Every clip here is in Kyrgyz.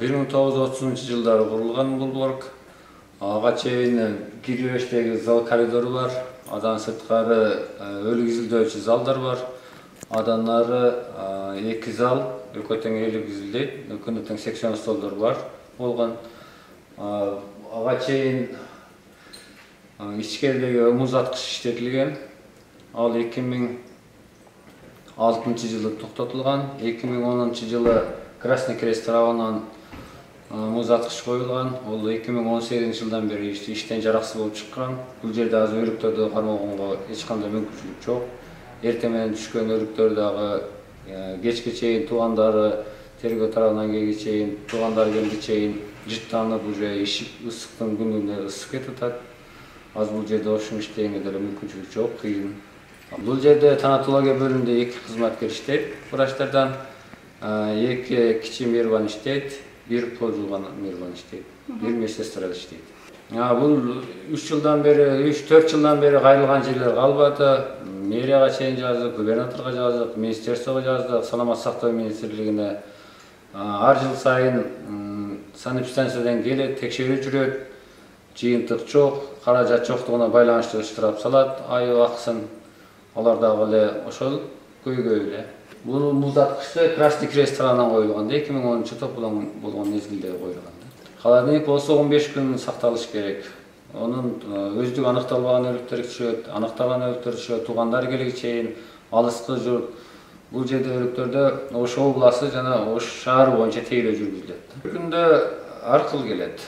1930-жылдары курулган бул блок. Ага чейин киребештеги зал коридору бар. Адан сырткары өлүк изилдөөчү залдар бар. Адан нары 2 зал, экөө тең өлүк изилдейт. Экөөнү тең секцион столдор бар болгон. Ага чейин ичкеридеги музаткыч иштетилген. Ал 2006-жылы токтотулган. 2010-жылы Красный Крест тарабынан музаткыч коюлган. Ол 2018-жылдан бери иштен жараксыз болуп чыккан. Бул жерде азыр өлүктөрдү кармоого эч кандай мүмкүнчүлүк жок. Эртең менен түшкөн өлүктөр дагы кечке чейин туугандары тергөө тарабынан келге чейин, туугандары келге чейин жыттанып уже ишип ысыктын күнүнө ысып кетип атат. Азыр бул жерде ошону иштегенге деле мүмкүнчүлүк жок, кыйын. Бул жерде танатология бөлүмүндө 2 кызматкер иштейт. Врачтардан 2 кичи мейрбан иштейт, 1 полжулган мейрбан иштейт, 1 медсестра иштейт. Бул 3-4 жылдан бери кайрылган жерлер калбады. Мэрияга чейин жаздык, губернаторго жаздык, министерствого жаздык, саламаттык сактоо министрлигине. Ар жыл сайын санэпидстанциядан келет, текшерүү жүрөт. Жыйынтык жок, каражат жоктугуна байланыштуу штраф салат, айыл акысын. Алар дагы эле ошол көйгөй эле. Бул музаткычты Красный Крест тарабынан коюлган, 2010-жылы тополоң болгон мезгилде коюлган. Холодильник болсо 15 күн сакталыш керек. Онун өздүгү аныкталбаган өлүктөр түшөт, аныкталган өлүктөр түшөт, туугандары келге чейин, алыскы журт. Бул жерде өлүктөрдө Ош областы жана Ош шаары боюнча тейлөө жүргүзүлөт. Bir күндө ар кыл келет.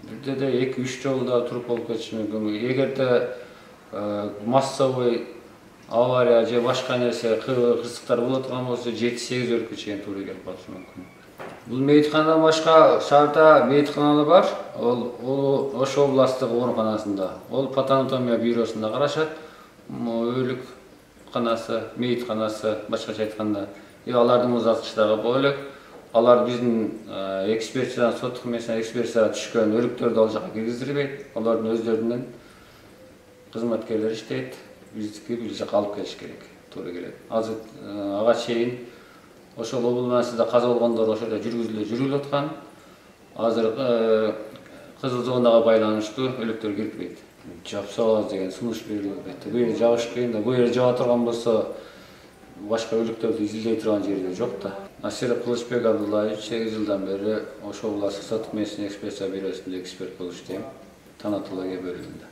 Бирде де 2-3 жолу да туруп болуп кетиши мүмкүн. Эгерде массовый авария же башка нерсе кырсыктар боло турган болсо 7-8 өлүккө чейин туура келип калышы мүмкүн. Бул мейитканадан башка шаарда мейитканалар бар. Ол Ош областтык ооруканасында. Ол патанатомия бюросунда карашат. Өлүк канасы, мейитканасы, башкача айтканда, алардын музаткычтары бөлөк. Алар биздин экспертизадан соттук эмесинен экспертизага түшкөн өлүктөрдү ал жака киргиздирбейт. Алардын өздөрүнүн кызматкерлери иштейт. Биздики бул жака алып келиш керек, туура келет. Азыр ага чейин ошол областында каза болгондор ошол жерде жүргүзүлүп аткан. Азыр кызыл зонага байланыштуу өлүктөр кирпейт. Жапсабыз деген сунуш берилет. Бул жерде жабыш кыйын да, бул жерде жаба турган болсо башка өлүктөрдү изилдей турган жерде жок да. Насиров Кылычбек Абдуллаевич 8 жылдан бери Ош областык соттук медицина экспертиза бюросунда эксперт болуп иштейм, танатология бөлүмүндө.